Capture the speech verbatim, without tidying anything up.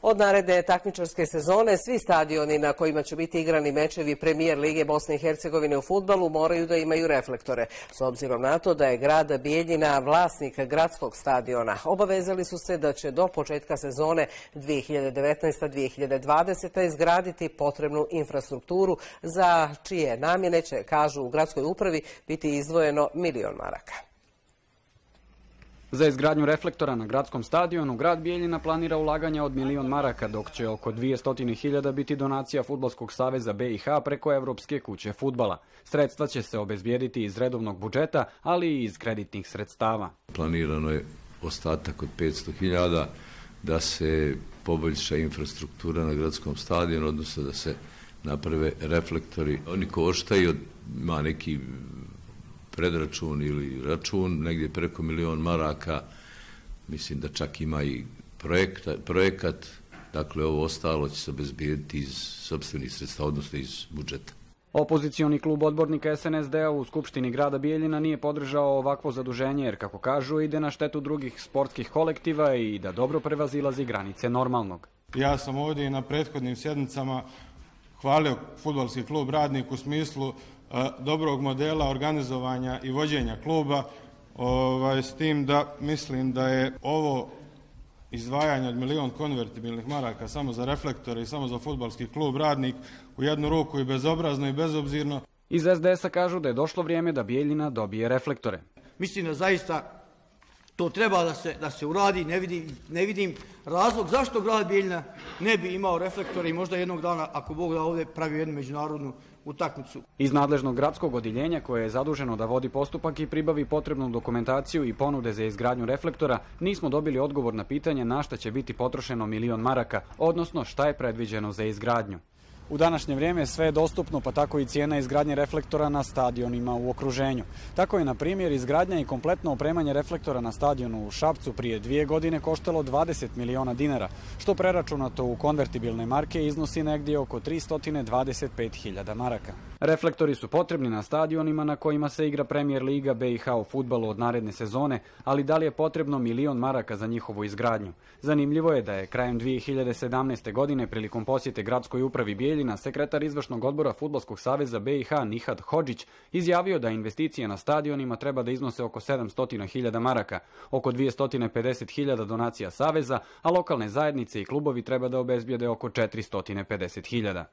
Od naredne takmičarske sezone svi stadioni na kojima će biti igrani mečevi Premijer Lige Bosne i Hercegovine u fudbalu moraju da imaju reflektore. S obzirom na to da je grad Bijeljina vlasnik gradskog stadiona, obavezali su se da će do početka sezone dvije hiljade devetnaeste dvije hiljade dvadesete izgraditi potrebnu infrastrukturu za čije namjene će, kažu u gradskoj upravi, biti izdvojeno milion maraka. Za izgradnju reflektora na gradskom stadionu grad Bijeljina planira ulaganja od milion maraka, dok će oko dvjesto hiljada biti donacija Fudbalskog saveza B i H preko Evropske kuće fudbala. Sredstva će se obezbijediti iz redovnog budžeta, ali i iz kreditnih sredstava. Planirano je ostatak od petsto hiljada da se poboljša infrastruktura na gradskom stadionu, odnosno da se naprave reflektori. Oni koštaju, ima neki predračun ili račun, negdje preko milion maraka, mislim da čak ima i projekta, projekat, dakle ovo ostalo će se obezbijediti iz sopstvenih sredstava, odnosno iz budžeta. Opozicioni klub odbornika S N S D-a u Skupštini grada Bijeljina nije podržao ovakvo zaduženje jer, kako kažu, ide na štetu drugih sportskih kolektiva i da dobro prevazilazi granice normalnog. Ja sam ovdje i na prethodnim sjednicama hvalio fudbalski klub Radnik u smislu dobrog modela organizovanja i vođenja kluba, ovaj, s tim da mislim da je ovo izdvajanje od milion konvertibilnih maraka samo za reflektore i samo za fudbalski klub Radnik u jednu ruku i bezobrazno i bezobzirno. Iz S D S-a kažu da je došlo vrijeme da Bijeljina dobije reflektore. Mislim da zaista to treba da se, da se uradi, ne vidim, ne vidim razlog zašto grad Bijeljina ne bi imao reflektore i možda jednog dana, ako Bog da, ovdje pravi jednu međunarodnu utakmicu. Iz nadležnog gradskog odjeljenja, koje je zaduženo da vodi postupak i pribavi potrebnu dokumentaciju i ponude za izgradnju reflektora, nismo dobili odgovor na pitanje na šta će biti potrošeno milion maraka, odnosno šta je predviđeno za izgradnju. U današnje vrijeme sve je dostupno, pa tako i cijena izgradnje reflektora na stadionima u okruženju. Tako je, na primjer, izgradnja i kompletno opremanje reflektora na stadionu u Šapcu prije dvije godine koštalo dvadeset miliona dinara, što preračunato u konvertibilne marke iznosi negdje oko tristo dvadeset pet hiljada maraka. Reflektori su potrebni na stadionima na kojima se igra Premijer Liga B i H u fudbalu od naredne sezone, ali da li je potrebno milion maraka za njihovu izgradnju? Zanimljivo je da je krajem dvije hiljade sedamnaeste. godine prilikom posjete gradskoj upravi Bijeljina sekretar izvršnog odbora Fudbalskog saveza B i H Nihat Hodžić izjavio da investicije na stadionima treba da iznose oko sedamsto hiljada maraka, oko dvjesto pedeset hiljada donacija saveza, a lokalne zajednice i klubovi treba da obezbijede oko četiristo pedeset hiljada.